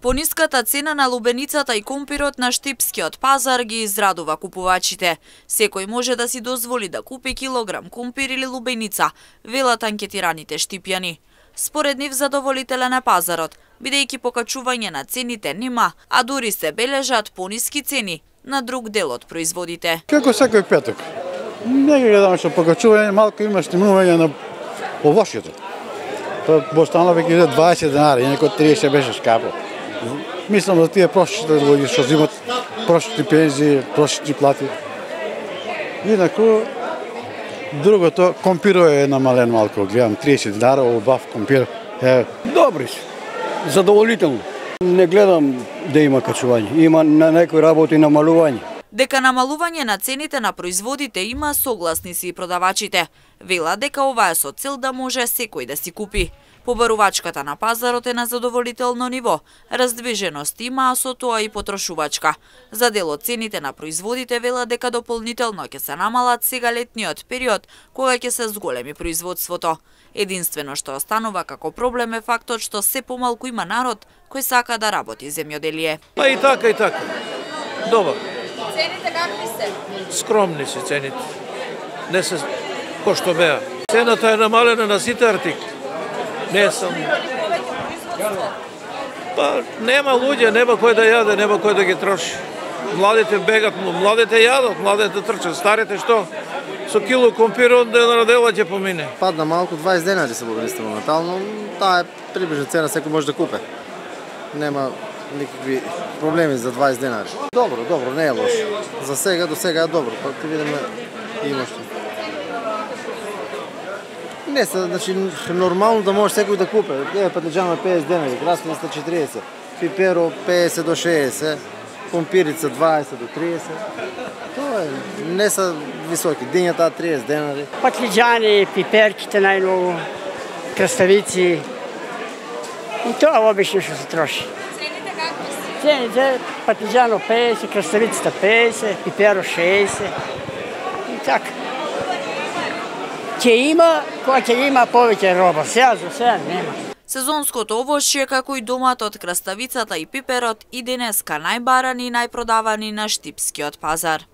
Пониската цена на лубеницата и компирот на Штипскиот пазар ги израдува купувачите. Секој може да си дозволи да купи килограм компир или лубеница, велат анкетираните штипјани. Според нив задоволителен е пазарот, бидејќи покачување на цените нема, а дури се бележат пониски цени на друг дел од производите. Како секој петок. Не ги гледам што покачување, малку има стимулување на овошјето. Тоа останало веќе 20 денари, некој 30 беше скапо. Мислам за тие прошите луѓе што земат прошити пензии, прошити плати. Инаку, другото, компирот е намален малку, гледам 30 денара, убав компир. Добри се, задоволително. Не гледам да има качување, има на некои работи намалување. Дека намалување на цените на производите има, согласни си и продавачите. Вела дека ова е со цел да може секој да си купи. Побарувачката на пазарот е на задоволително ниво, раздвиженост има, а со тоа и потрошувачка. За дел од цените на производите вела дека дополнително ќе се намалат сега летниот период, кога ќе се зголеми производството. Единствено што останува како проблем е фактот што се помалку има народ кој сака да работи земјоделие. Па и така. Добар. Цените какви се? Скромни се цените. Не се кој што беа. Цената е намалена на сите артикли. Не сум. Па нема луѓе, нема кој да јаде, нема кој да ги троши. Младите бегат, младите јадат, младите трчат, старите што? Со кило компир на дела ќе помине. Падна малку 20 денари се бобристе моментално, таа е приближна цена, секој може да купе. Нема никакви проблеми за 20 денари. Добро, не е лошо. За сега, до сега е добро, па ќе видиме има што. Не се, значи, нормално да може секој да купе. Патлиџанот 50 денари, краставица 40, пиперо 50 до 60, компирица 20 до 30. Тоа е, не се високи, дињата 30 денари. Патлиџани, пиперките најмногу, краставици. И тоа обично што се троши. Цените какви се? Цените, патлиџано 50, краставицата 50, пиперо 60. И така. Ќе има, кога ќе има повеќе роба, сега за сега нема. Сезонското овошје, како и доматот, краставицата и пиперот, и денеска најбарани и најпродавани на Штипскиот пазар.